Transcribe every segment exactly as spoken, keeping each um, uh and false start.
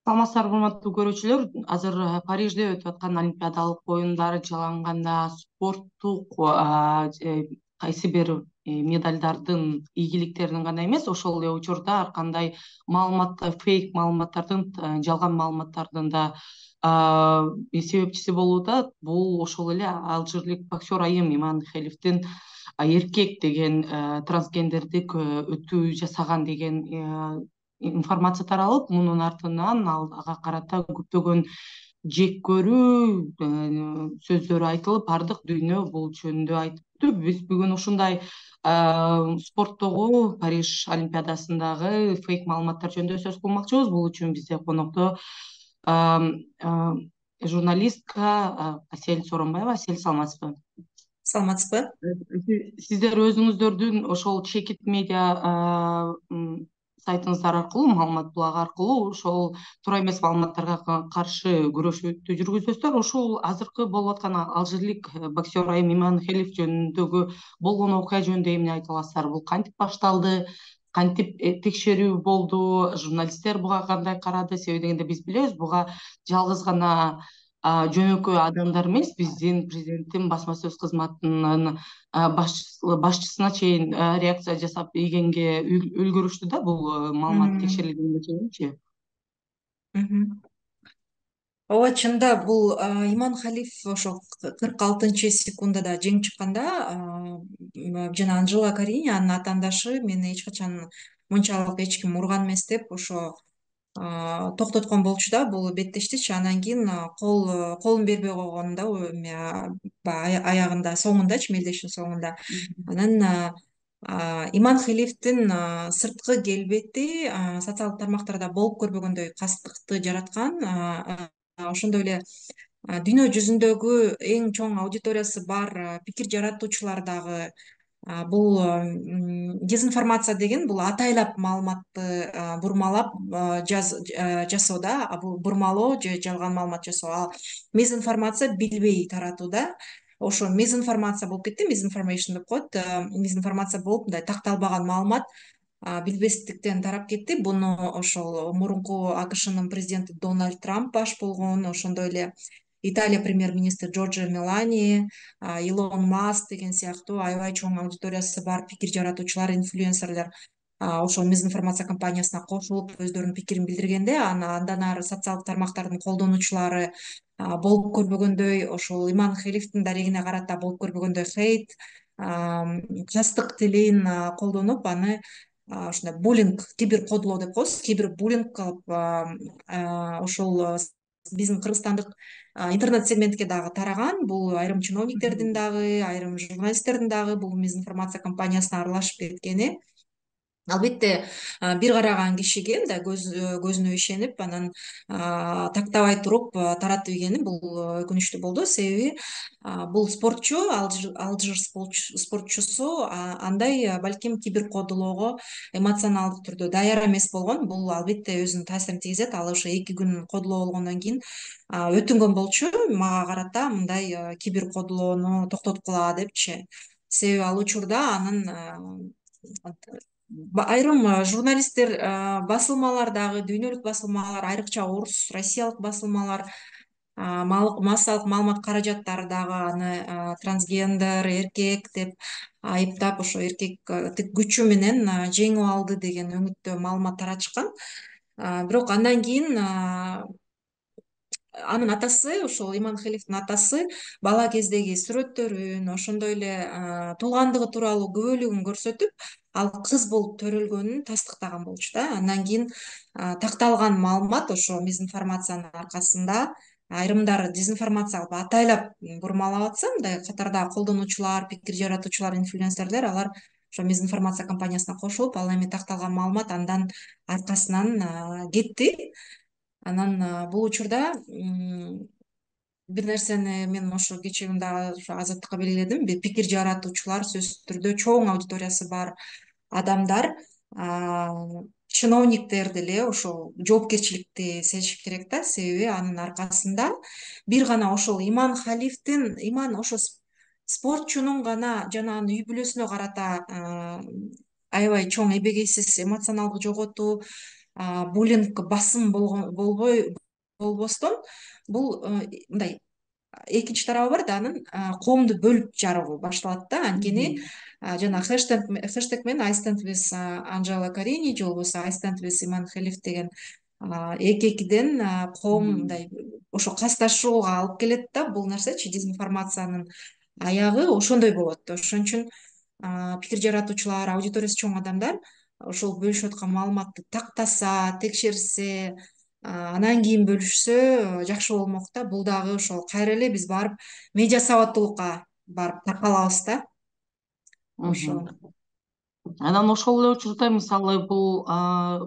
Саламатсыздарбы, урматтуу көрүүчүлөр. Азыр э, Парижде өтүп аткан Олимпиадалык оюндар жалганда спорттук э, кайсы бир э, медалдардын ийгиликтерин гана эмес, ошол эле учурда ар кандай маалымат, фейк маалыматтардын, э, жалган маалыматтардын да себепчиси болууда. Бул ошол эле алжирлик боксер айым Иман Халифтин эркек деген, э, трансгендердик э, өтүү жасаган деген э, информация таралып, мунун артынан ал ага карата көптөгөн жек көрүү э, сөздөр айтылып, баардык дүйнө бул жөнүндө айтыптыр. Биз бүгүн ушундай э, спорттогу Париж Олимпиадасындагы фейк маалыматтар жөнүндө сөз кылмакчыбыз. Бул үчүн бизде конокто э, э, журналистка э, Асель Сооронбаева. Асель, саламатсызбы? Саламатсызбы? Сиздер өзүңүздөрдүн ошол чекит медиа сайтыңыздар аркылуу, маалымат булагы аркылуу ошол туура эмес маалыматтарга каршы күрөшүүдү жүргүзөсүздөр. Ушул азыркы болуп аткан алжирлик боксер айым Иман Халиф жөнүндөгү болгон окуя жөнүндө эмне айта аласыздар? Бул кантип башталды? Кантип текшерүү болду? Журналисттер буга кандай карады? Себеби дегенде биз билебиз, буга жалгыз гана жөнөкөй адамдар эмес, биздин президенттин басма сөз кызматынын башчысына чейин реакция жасап ийгенге үлгүрүштү да, бул маалымат текшерилгенге чейинчи. ооба, чынында бул Иман Халиф ошо кырк алтынчы секундада жеңип чыкканда жана Анжела Карини, анын атаандашы, мени эч качан мынчалык эч ким урган эмес деп ошо токтоткон болчу да бул беттештичи. Анан кийин кол колун бербей койгон да, баягы аягында, соңундачы, мелдештин соңунда. Анан Иман Халифтин сырткы келбети социалдык тармактарда болуп көрбөгөндөй кастыкты жараткан. Ошондой эле дүйнө жүзүндөгү эң чоң аудиториясы бар пикир жаратуучулар дагы бул дезинформация деген бул атайлап маалыматты бурмалап жасоо да, бурмалоо же жалган маалымат жасоо. Ал мезинформация билбей таратуу да. Ошо мезинформация болуп кетти, мезинформation деп коет. Мезинформация болуп, мындай такталбаган маалымат билбестиктен тарап кетти. Буну ошол мурунку АКШнын президенти Дональд Трамп баш болгон, ошондой эле Италия премьер-министри Джорджа Мелани, Илон Маск деген сыяктуу аябай чоң аудиториясы бар пикир жаратуучулар, инфлюенсерлер ошол мезинформация компаниясына кошулуп өздөрүнүн пикирин билдиргенде, андан ары социалдык тармактардын колдонуучулары болуп көрбөгөндөй, ошол Иман Халифтин дарегине карата болуп көрбөгөндөй хейт, кастык тилин колдонуп, аны ушундай буллинг, кибер кодулоо деп коебуз, кибер буллинг кылып ошол биздин кыргызстандык интернет сегментке дагы тараган. Бул айрым чиновниктердин дагы, айрым журналисттердин дагы бул мезинформация компаниясына аралашып кеткени. Албетте, бир караган кишиге мындай көзүнө ишенип, анан тактабай туруп таратып ийгени бул өкүнүчтүү болду. Себеби бул спортчу, алжир спортчусу андай балким кибер кодулоого эмоционалдык түрдө даяр эмес болгон. Бул албетте өзүнүн таасирин тийгизет. Ал ошо эки күн кодулоо болгондон кийин өтүнгөн болчу мага карата мындай кибер кодулоону токтоткула депчи. Себеби ал учурда анын айрым журналисттер, басылмалар дагы, дүйнөлүк басылмалар, айрыкча орус, россиялык басылмалар, массалык маалымат каражаттары дагы аны трансгендер, эркек деп айыптап, ошо эркектик күчү менен жеңип алды деген өңүттө маалымат таратышкан. Бирок андан кийин анын атасы, ошол Иман Халифтин атасы бала кездеги сүрөттөрүн, ошондой эле туулгандыгы тууралуу күбөлүгүн көрсөтүп, ал кыз болуп төрөлгөнүн тастыктаган болчу да. Андан кийин такталган маалымат ошо мезинформациянын аркасында айрымдары дезинформация кылып атайлап бурмалап атса, мындай катарда колдонуучулар, пикир жаратуучулар, инфлюенсерлер, алар ошо мезинформация компаниясына кошулуп, ал эми такталган маалымат андан аркасынан кетти. Анан бул учурда бир нерсени мен ошо кечээ күнү дагы Азаттыкка белгиледим. Пикир жаратуучулар, сөзсүз түрдө чоң аудиториясы бар адамдар чиновниктер деле ошол жоопкерчиликти сезиши керек да. Себеби анын аркасында бир гана ошол Иман Халифтин, Иман ошо спортчунун гана жана анын үй бүлөсүнө карата аябай чоң эбегейсиз эмоционалдык жоготуу, буллинг, басым болбой болбостон бул мындай экинчи тарабы бар да, анын коомду бөлүп жаруу башталат да. Анткени жана хэштег хэштег менен I stand with Анжела Карини же болбосо I stand with Иман Халиф деген эки экиден коом мындай ошо касташууга алып келет да. Бул нерсечи дезинформациянын аягы ошондой болот. Ошон үчүн пикир жаратуучулар, аудиториясы чоң адамдар ошол бөлүшүп аткан маалыматты тактаса, текшерсе, анан кийин бөлүшсө жакшы болмок да. Бул дагы ошол кайра эле биз барып медиа сабаттуулукка барып такалабыз да. Ошо. Анан ошол эле учурда мисалы бул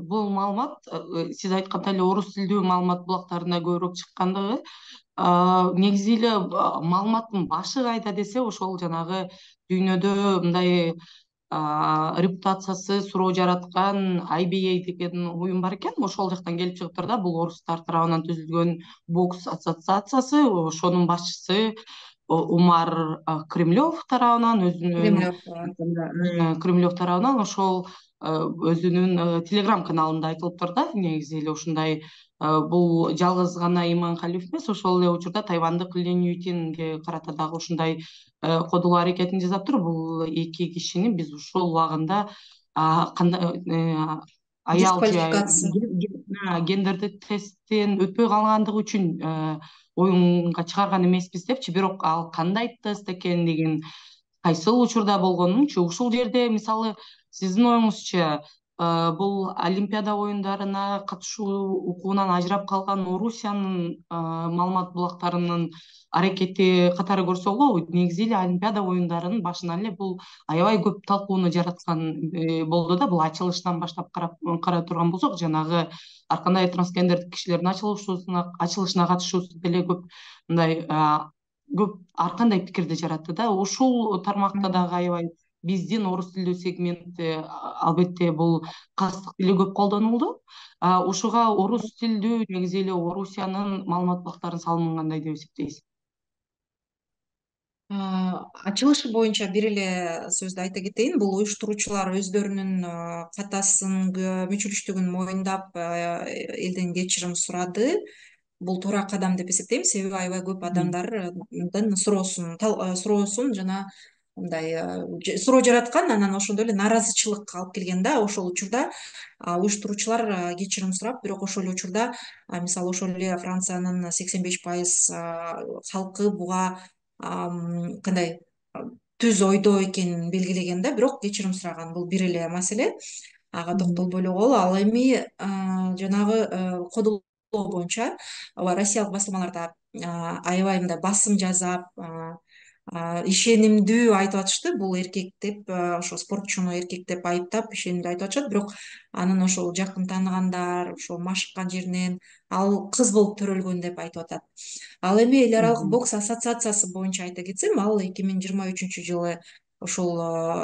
бул маалымат сиз айткандай эле орус тилдүү маалымат булактарында көбүрөөк чыккандыгы негизи эле маалыматтын башы кайда десе ошол жанагы дүйнөдө мындай репутациясы суроо жараткан I B A деген уюм бар экен. Ошол жактан келип чыгыптыр да. Бул орустар тарабынан түзүлгөн бокс ассоциациясы. Ошонун башчысы Умар Кремлев тарабынан өзүнүн Кремлев тарабынан ошол өзүнүн телеграм каналында айтылыптыр да. Негизи эле ушундай бул жалгыз гана Иман Халиф эмес, ошол эле учурда тайвандык Лин Ютинге карата дагы ушундай кодулоо аракетин жасаптыр. Бул эки кишини биз ушул убагында кандай аял же гендердик тесттен өтпөй калгандыгы үчүн оюнга чыгарган эмеспиз депчи. Бирок ал кандай тест экен деген, кайсыл учурда болгонунчу, ушул жерде мисалы сиздин оюңузча бул Олимпиада оюндарына катышуу укугунан ажырап калган Орусиянын маалымат булактарынын аракети катары көрсөгө, негизи эле Олимпиада оюндарынын башынан эле бул аябай көп талкууну жараткан болду да. Бул ачылыштан баштап карай турган болсок, жанагы ар кандай трансгендердик кишилердин ачылышуусуна ачылышына катышуусу деле көп мындай көп ар кандай пикирди жаратты да. Ушул тармакта дагы аябай биздин орус тилдүү сегментте албетте бул кастык тили көп колдонулду. Ушуга орус тилдүү негизи эле Орусиянын маалымат булактарынын салымын кандай деп эсептейсиз? Ачылышы боюнча бир эле сөздү айта кетейин. Бул уюштуруучулар өздөрүнүн катасын, мүчүлүштүгүн моюндап элден кечирим сурады. Бул туура кадам деп эсептейм. Себеби аябай көп адамдардын суроосун суроосун жана мындай суроо жараткан, анан ошондой эле нааразычылык алып келген да. Ошол учурда уюштуруучулар кечирим сурап, бирок ошол эле учурда мисалы ошол эле Франциянын сексен беш пайыз халкы буга кандай түз ойдо экенин белгилеген да. Бирок кечирим сураган. Бул бир эле маселе. Ага токтолбой эле коелу. Ал эми жанагы кодулоо боюнча ооба россиялык басылмаларда аябай мындай басым жасап, ишенимдүү айтып атышты. Бул эркек деп, ошо спортчуну эркек деп айыптап ишенимдүү айтып атышат. Бирок анын ошол жакын тааныгандар, ошол машыккан жеринен ал кыз болуп төрөлгөн деп айтып атат. Ал эми эл аралык бокс ассоциациясы боюнча айта кетсем, ал эки миң жыйырма үчүнчү жылы ошол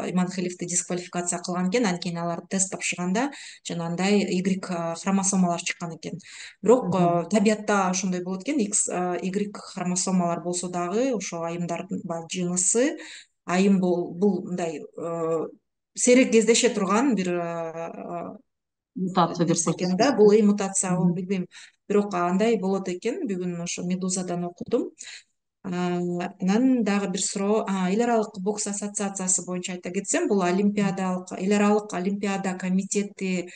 Иман Халифти дисквалификация кылган экен. Анткени алар тест тапшырганда жанагындай Y хромосомалар чыккан экен. Бирок табиятта ошондой болот экен. X Y хромосомалар болсо дагы ошо айымдардын жынысы айым бул мындай сейрек кездеше турган бир мутация деп нерсе экен да. Бул мутация, билбейм. Бирок андай болот экен. Бүгүн ошо Медузадан окудум. Анан дагы бир суроо, эл аралык бокс ассоциациясы боюнча айта кетсем, бул олимпиадалык, эл аралык олимпиада комитети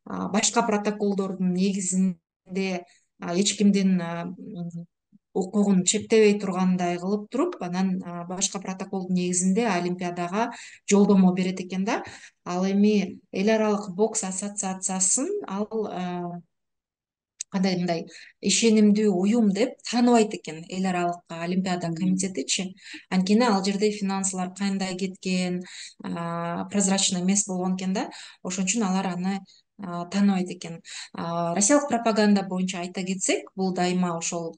башка протоколдордун негизинде эч кимдин укугун чектебей тургандай кылып туруп, анан башка протоколдун негизинде олимпиадага жолдомо берет экен да. Ал эми эл аралык бокс ассоциациясын ал кандай мындай ишенимдүү уюм деп тааныбайт экен эл аралык олимпиада комитетичи. Анткени ал жерде финансылар кандай кеткен, прозрачный эмес болгон экен да. Ошон үчүн алар аны тааныбайт экен. Россиялык пропаганда боюнча айта кетсек, бул дайыма ошол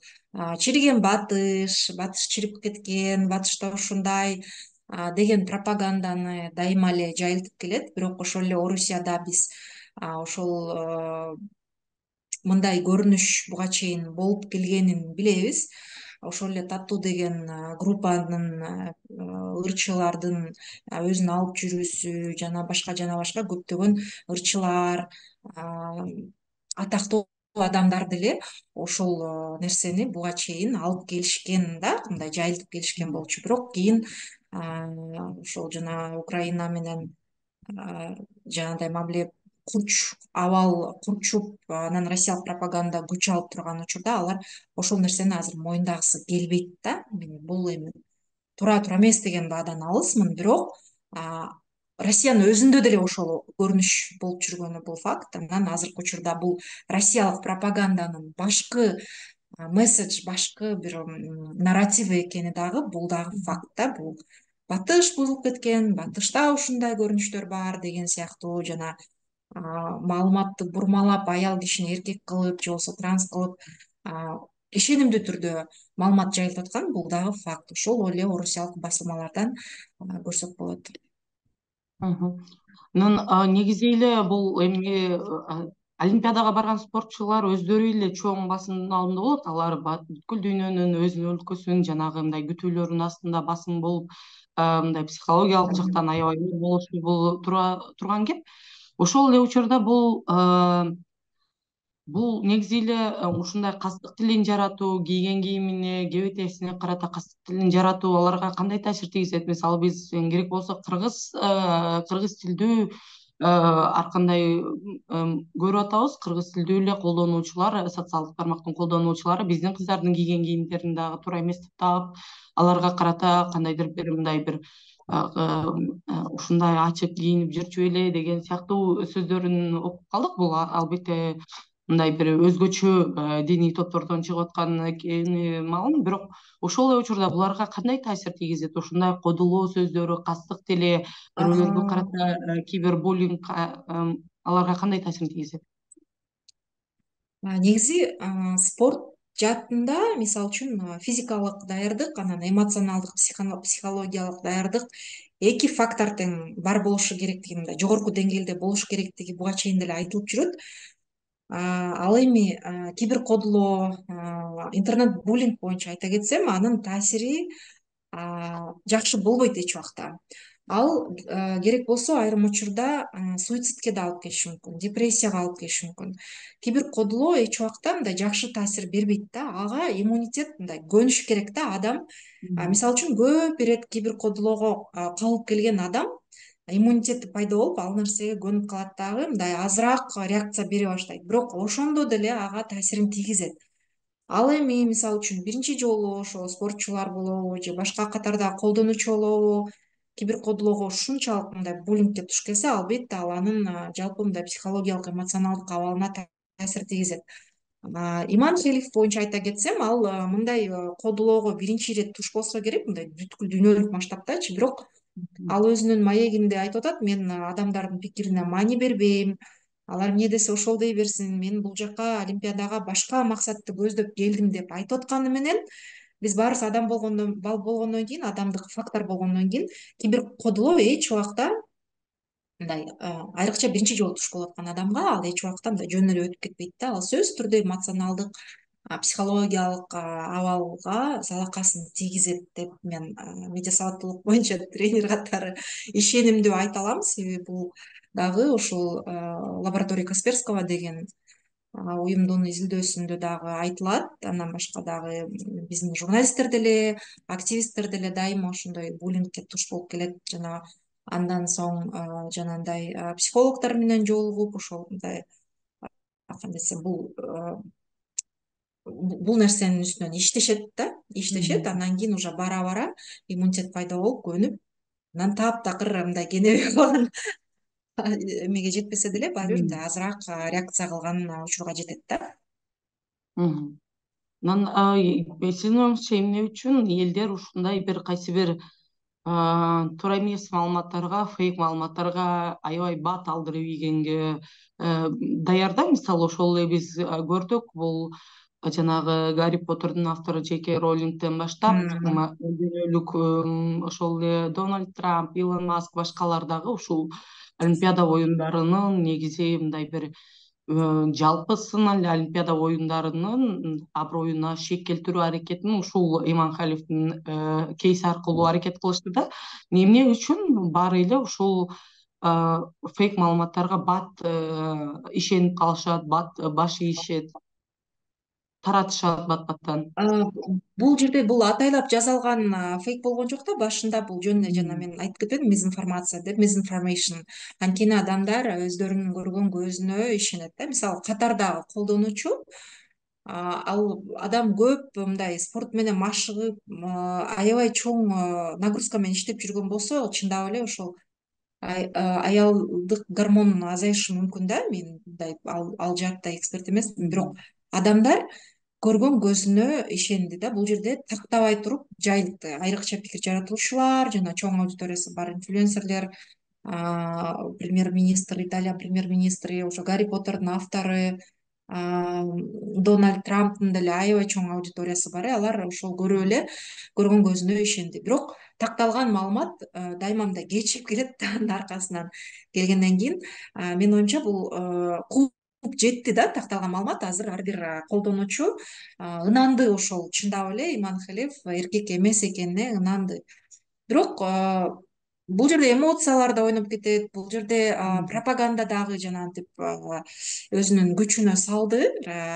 чириген батыш, батыш чирип кеткен, батышта ушундай деген пропаганданы дайыма эле жайылтып келет. Бирок ошол эле Орусияда биз ошол мындай көрүнүш буга чейин болуп келгенин билебиз. ошол эле Татуу деген группанын ырчылардын өзүн алып жүрүүсү жана башка жана башка көптөгөн ырчылар, атактуу адамдар деле ошол нерсени буга чейин алып келишкен да, мындай жайылтып келишкен болчу. Бирок кийин ошол жана Украина менен жанагындай мамиле курч абал курчуп, анан россиялык пропаганда күч алып турган учурда алар ошол нерсени азыр моюндагысы келбейт да. Бул эми туура туура эмес деген баадан алысмын, бирок Россиянын өзүндө деле ошол көрүнүш болуп жүргөнү бул факт. Анан азыркы учурда бул россиялык пропаганданын башкы месседж, башкы бир нарративи экени дагы бул дагы факт да. Бул батыш бузулуп кеткен, батышта ушундай көрүнүштөр бар деген сыяктуу, жана маалыматты бурмалап аял кишини эркек кылып же болбосо транс кылып ишенимдүү түрдө маалымат жайылтып аткан бул дагы факт. Ошол эле орусиялык басылмалардан көрсөк болот. Анан негизи эле бул эми Олимпиадага барган спортчулар өздөрү эле чоң басымдын алдында болот. Алар бүткүл дүйнөнүн өзүнүн өлкөсүнүн жанагы мындай күтүүлөрүнүн астында басым болуп, мындай психологиялык жактан аябай оор болушу бул турган кеп. Ошол эле учурда бул бул негизи эле ушундай кастык тилин жаратуу, кийген кийимине, кебетесине карата кастык тилин жаратуу аларга кандай таасир тийгизет? Мисалы биз керек болсо кыргыз кыргыз тилдүү ар кандай көрүп атабыз. Кыргыз тилдүү эле колдонуучулар, социалдык тармактын колдонуучулары биздин кыздардын кийген кийимдерин дагы туура эмес деп таап, аларга карата кандайдыр бир мындай бир ушундай ачык кийинип жүрчү беле деген сыяктуу сөздөрүн окуп калдык. Бул албетте мындай бир өзгөчө диний топтордон чыгып аткан экени маалым, бирок ошол эле учурда буларга кандай таасир тийгизет? Ушундай кодулоо сөздөрү, кастык тили, бирөөлөргө карата кибербуллинг аларга кандай таасирин тийгизет? Негизи спорт жаатында мисалы үчүн физикалык даярдык анан эмоционалдык, психологиялык даярдык эки фактор тең бар болушу керектиги, мындай жогорку деңгээлде болуш керектиги буга чейин деле айтылып жүрөт. Ал эми киберкодулоо, интернет буллинг боюнча айта кетсем, анын таасири жакшы болбойт эч убакта. Ал керек болсо айрым учурда суицидке да алып келиши мүмкүн, депрессияга алып келиши мүмкүн. Киберкодулоо эч убакта мындай жакшы таасир бербейт да. Ага иммунитет мындай көнүш керек да. Адам мисалы үчүн көп ирет киберкодулоого кабылып келген адам иммунитети пайда болуп, ал нерсеге көнүп калат дагы, мындай азыраак реакция бере баштайт. Бирок ошондо деле ага таасирин тийгизет. Ал эми мисалы үчүн биринчи жолу ошо спортчулар болобу же башка катардагы колдонуучу болобу киберкодулоого ушунчалык мындай буллингке туш келсе, албетте ал анын жалпы мындай психологиялык, эмоционалдык абалына таасир тийгизет. Иман Хелиф боюнча айта кетсем, ал мындай кодулоого биринчи ирет туш болсо керек, мындай бүткүл дүйнөлүк масштабтачы, бирок ал өзүнүн маегинде айтып атат: мен адамдардын пикирине маани бербейм, алар эмне десе ошол дей берсин, мен бул жака Олимпиадага башка максатты көздөп келдим деп айтып атканы менен, биз баарыбыз адам болгондон болгондон кийин, адамдык фактор болгондон кийин киберкодулоо эч убакта мындай айрыкча биринчи жолу туш болуп аткан адамга ал эч убакта мындай жөн эле өтүп кетпейт да. Ал сөзсүз түрдө эмоционалдык, психологиялык абалга залакасын тийгизет деп мен медиа сабаттуулук боюнча тренер катары ишенимдүү айта алам. Себеби бул дагы ушул лаборатория Касперского деген уюмдун изилдөөсүндө дагы айтылат. Андан башка дагы биздин журналисттер деле, активисттер деле дайыма ошондой буллингке туш болуп келет. Жана андан соң жанагындай психологдор менен жолугуп, ошол мындай кандай десем, бул бул нерсенин үстүнөн иштешет да, иштешет. Андан кийин уже бара бара иммунитет пайда болуп, көнүп, анан таптакыр мындай кенебей калган эмеге жетпесе деле баары бир азыраак реакция кылган учурга жетет да. Анан сиздин оюңузча эмне үчүн элдер ушундай бир кайсы бир туура эмес маалыматтарга, фейк маалыматтарга аябай бат алдырып ийгенге даярда? Мисалы ошол эле биз көрдүк, бул жанагы Гарри Поттердин автору Джей Кей Роулингден баштап, дүйнөлүк ошол эле Дональд Трамп, Илон Маск, башкалар дагы ушул Олимпиада оюндарынын негизи мындай бир жалпы сын эле Олимпиада оюндарынын аброюна шек келтирүү аракетин ушул Иманхалиевдин кейси аркылуу аракет кылышты да. Эмне үчүн баары эле ушул фейк маалыматтарга бат ишенип калышат, бат баш ийишет, таратышат бат баттан. Бул жерде бул атайлап жасалган фейк болгон жок да. Башында бул жөн эле жана мен айтып кетпедимби, мизинформация деп, мизинформейшн. Анткени адамдар өздөрүнүн көргөн көзүнө ишенет да. Мисалы катардагы колдонуучу, ал адам көп мындай спорт менен машыгып, аябай чоң нагрузка менен иштеп жүргөн болсо, чындап эле ошол аялдык гормон азайышы мүмкүн да. Мен мындай ал жаатта эксперт эмесмин, бирок адамдар көргөн көзүнө ишенди да. Бул жерде тактабай туруп жайылтты. Айрыкча пикир жаратуучулар жана чоң аудиториясы бар инфлюенсерлер, премьер-министр, Италия премьер-министри, ошо Гарри Поттердин автору, Дональд Трамптын деле аябай чоң аудиториясы бар. Алар ошол көрүп эле көргөн көзүнө ишенди. Бирок такталган маалымат дайыма мындай кечип келет. Анын аркасынан келгенден кийин менин оюмча бул жетти да, такталган маалымат. Азыр ар бир колдонуучу ынанды, ошол чындап эле Иманхалиев эркек эмес экенине ынанды. Бирок бул жерде эмоциялар да ойноп кетет, бул жерде пропаганда дагы жанагынтип өзүнүн күчүнө салды.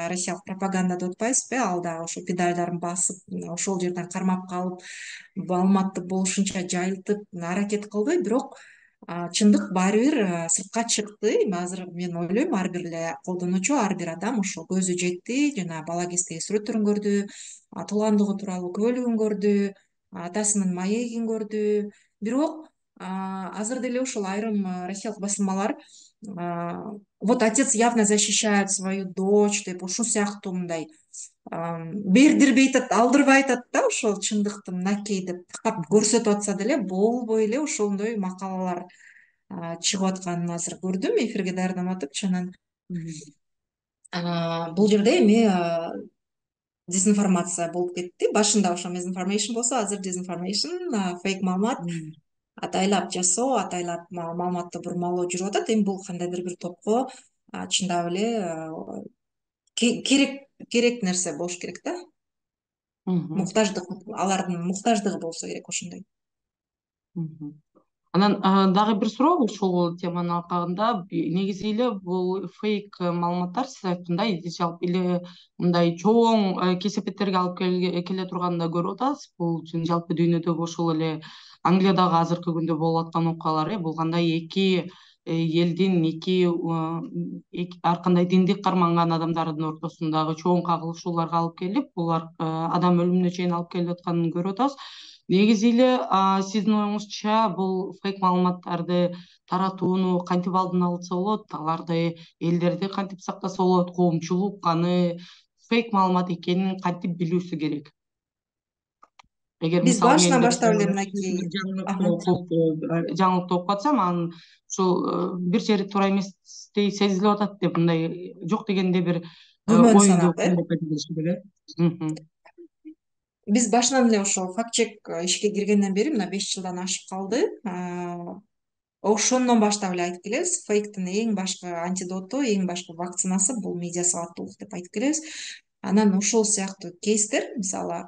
Россиялык пропаганда деп атпайбызбы, ал дагы ошо педальдарын басып, ошол жерден кармап калып, маалыматты болушунча жайылтып аракет кылды. Бирок чындык баары бир сыртка чыкты. Азыр мен ойлойм, ар бир эле колдонуучу, ар бир адам ошо көзү жетти, жана бала кездеги сүрөттөрүн көрдү, туулгандыгы тууралуу күбөлүгүн көрдү, атасынын маегин көрдү. Бирок азыр деле ошол айрым россиялык басылмалар вот отец явно защищает свою дочь деп, ушул сыяктуу мындай бердирбей атат, алдырбай атат да, ошол чындыкты мынакей деп такап көрсөтүп атса деле болбой эле ошондой макалалар чыгып атканын азыр көрдүм, эфирге даярданып анан бул жерде эми дезинформация болуп кетти. Башында ошо мизинформейшн болсо, азыр дезинформейшн, фейк маалымат, атайлап жасоо, атайлап маалыматты бурмалоо жүрүп атат. Эми бул кандайдыр бир топко чындап эле керек керек нерсе болуш керек да. Муктаждык, алардын муктаждыгы болсо керек ошондой. Анан дагы бир суроо ушул теманын алкагында, негизи эле бул фейк маалыматтар сиз айткандай жалпы эле мындай чоң кесепеттерге алып келе турганын да көрүп атабыз. Бул жалпы дүйнөдөгү ошол эле Англиядагы азыркы күндө болуп аткан окуялар, бул кандай эки элдин, эки ар кандай динди карманган адамдардын ортосундагы чоң кагылышууларга алып келип, булар адам өлүмүнө чейин алып келип атканын көрүп атабыз. Негизи эле сиздин оюңузча бул фейк маалыматтарды таратууну кантип алдын алса болот, аларды элдерди кантип сактаса болот, коомчулук аны фейк маалымат экенин кантип билүүсү керек? Эгер Биз мисалы мен башынан бир баштап эле мынакей жаңылыктуу окуп атсам, анан ушул бир жери туура эместей сезилип атат деп, мындай жок дегенде бир күмөн оюнду санап, э керек. Биз башынан эле ошол факт чек ишке киргенден бери мына беш жылдан ашып калды. Ошондон баштап эле айтып келебиз, фейктин эң башкы антидоту, эң башкы вакцинасы бул медиа сабаттуулук деп айтып келебиз. Анан ошол сыяктуу кейстер, мисалы,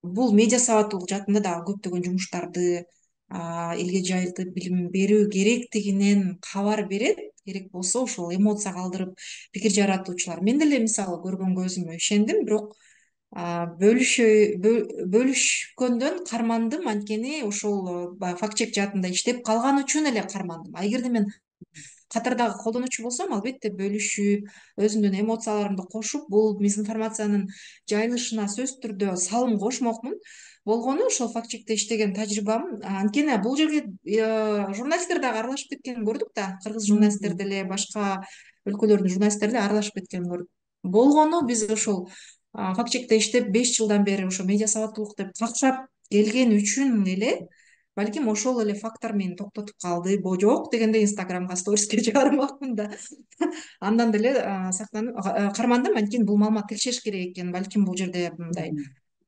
бул медиа сабаттуулук жаатында дагы көптөгөн жумуштарды элге жайылтып билим берүү керектигинен кабар берет. Керек болсо ошол эмоция калтырып пикир жаратуучулар. Мен деле мисалы көргөн көзүмө ишендим, бирок бөлүшкөндөн кармандым, анткени ошол факт чек жаатында иштеп калган үчүн эле кармандым. А эгерде мен катардагы колдонуучу болсом, албетте бөлүшүп, өзүмдүн эмоцияларымды кошуп, бул мизинформациянын жайылышына сөзсүз түрдө салым кошмокмун. Болгону ошол факт чекте иштеген тажрыйбам, анткени бул жерге журналисттер дагы аралашып кеткенин көрдүк да, кыргыз журналисттер деле, башка өлкөлөрдүн журналисттери деле аралашып кеткенин көрдүк. Болгону биз ошол факт чекте иштеп беш жылдан бери ошо медиа сабаттуулук деп какшап келген үчүн эле балким ошол эле фактор мени токтотуп калды. Бо жок дегенде инстаграмга сториске чыгармакмын да. Андан деле сактанып кармандым, анткени бул маалымат текшериш керек экен. Балким бул жерде мындай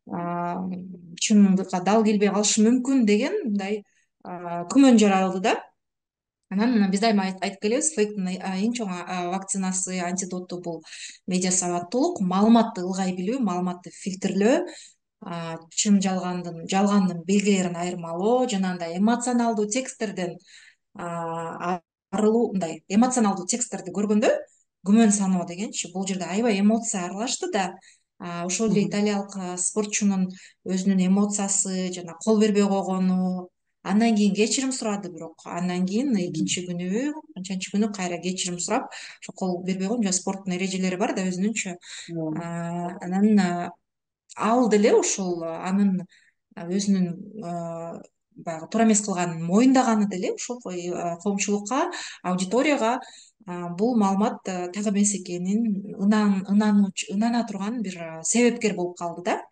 чындыкка дал келбей калышы мүмкүн деген мындай күмөн жаралды да. Анан биз дайыма айтып келебиз, фейктин эң чоң вакцинасы, антидоту бул медиа сабаттуулук, маалыматты ылгай билүү, маалыматты фильтрлөө, чын жалгандын жалгандын белгилерин айырмалоо, жанагындай эмоционалдуу тексттерден арылуу, мындай эмоционалдуу тексттерди көргөндө күмөн саноо дегенчи. Бул жерде аябай эмоция аралашты да. Ошол эле италиялык спортчунун өзүнүн эмоциясы, жана кол бербей койгону, андан кийин кечирим сурады, бирок андан кийин экинчи күнүбү канчанчы күнү кайра кечирим сурап, ошо кол бербей койгон, жана спорттун эрежелери бар да өзүнүнчө. Анан ал деле ошол анын өзүнүн баягы туура эмес кылганын моюндаганы деле ошол коомчулукка, аудиторияга бул маалымат так эмес экенин ынана турган бир себепкер болуп калды да.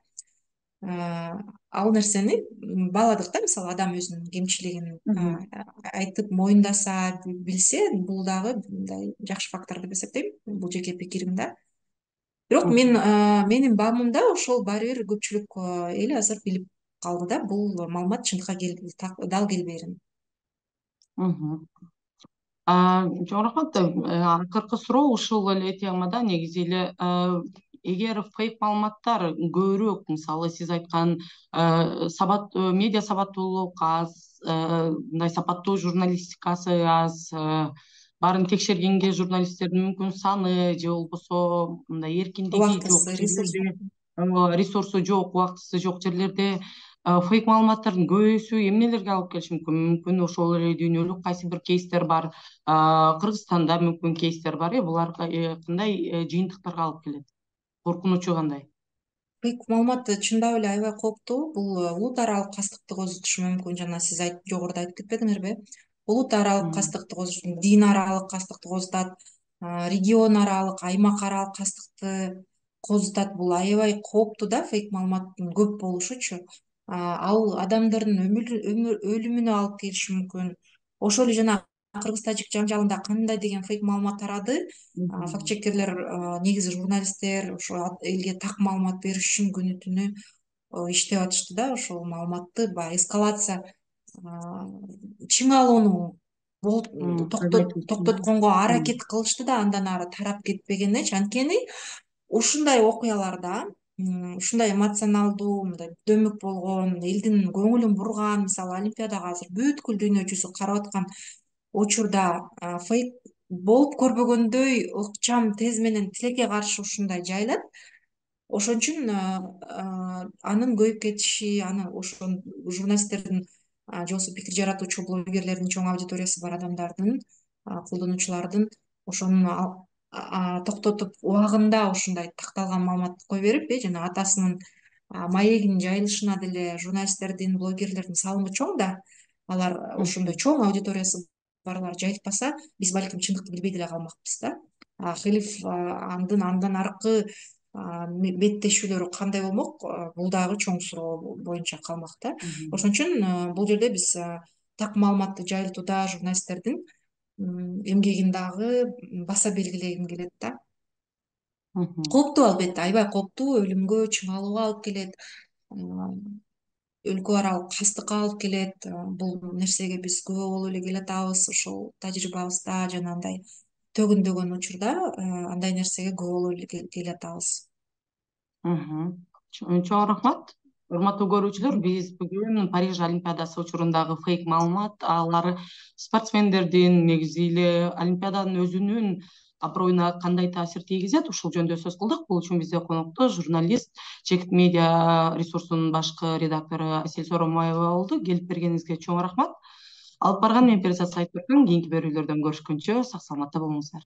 Ал нерсени бааладык да, мисалы адам өзүнүн кемчилигин айтып моюндаса, билсе, бул дагы мындай жакшы фактор деп эсептейм, бул жеке пикирим да. Бирок мен менин баамымда ошол баары бир көпчүлүк эл азыр билип калды да, бул маалымат чындыкка дал келбээрин. Чоң рахмат. Акыркы суроо ушул эле темада. Негизи эле эгер фейк маалыматтар көбүрөөк, мисалы сиз айткан сабат медиа сабаттуулук аз, мындай сапаттуу журналистикасы аз, баарын текшергенге журналисттердин мүмкүн саны же болбосо мындай эркиндиги жок жерлерде, ресурсу жок, убактысы жок жерлерде фейк маалыматтардын көбөйүүсү эмнелерге алып келиши мүмкүн? Мүмкүн ошол эле дүйнөлүк кайсы бир кейстер бар, Кыргызстанда мүмкүн кейстер бар, э булар кандай жыйынтыктарга алып келет? Коркунучу кандай? Фейк маалымат чындап эле аябай кооптуу. Бул улут аралык кастыкты козутушу мүмкүн. Жана сиз жогоруда айтып кетпедиңерби? Улут аралык кастыкты козутушу, дин аралык кастыкты козутат, регион аралык, аймак аралык кастыкты козутат. Бул аябай кооптуу да, фейк маалыматтын көп болушучу. Ал адамдардын өлүмүнө алып келиши мүмкүн. Ошол эле жана кыргыз-тажик жаңжалында кандай деген фейк маалымат тарады. Факт чекерлер, негизи журналисттер ошо элге так маалымат бериш үчүн күнү түнү иштеп атышты да. Ошол маалыматты баягы эскалация, чыңалууну токтотконго аракет кылышты да, андан ары тарап кетпегенечи. Анткени ушундай окуяларда, ушундай эмоционалдуу, мындай дөмүк болгон, элдин көңүлүн бурган, мисалы Олимпиадага азыр бүткүл дүйнө жүзү карап аткан учурда фейк болуп көрбөгөндөй ыкчам тез менен тилекке каршы ушундай жайылат. Ошон үчүн анын көбөйүп кетиши, аны ошол журналисттердин же болбосо пикир жаратуучу блогерлердин, чоң аудиториясы бар адамдардын, колдонуучулардын ошону токтотуп убагында ушундай такталган маалыматты кое берип, э жана атасынын маегинин жайылышына деле журналисттердин, блогерлердин салымы чоң да. Алар ошондой чоң аудиториясы барлар жайылтпаса, биз балким чындыкты билбей деле калмакпыз да. Хилиф андын андан аркы беттешүүлөрү кандай болмок, бул дагы чоң суроо боюнча калмак да. Ошон үчүн бул жерде биз так маалыматты жайылтууда журналисттердин эмгегин дагы баса белгилегим келет да. Кооптуу, албетте, аябай кооптуу, өлүмгө, чыңалууга алып келет, өлкө аралык кастыкка алып келет. Бул нерсеге биз күбө болуп эле келатабыз, ошол тажрыйбабызда жана андай төгүндөгөн учурда андай нерсеге күбө болуп эле келатабыз. Чоң рахмат. Урматтуу көрүүчүлөр, биз бүгүн Париж Олимпиадасы учурундагы фейк маалымат, алар спортсмендердин, негизи эле Олимпиаданын өзүнүн аброюна кандай таасир тийгизет, ушул жөнүндө сөз кылдык. Бул үчүн бизде конокто журналист, Чекит медиа ресурсунун башкы редактору Асель Соромаева болду. Келип бергениңизге чоң рахмат. Алып барган мен Перизат Сайтберген. Кийинки берүүлөрдөн көрүшкөнчө сак саламатта болуңуздар.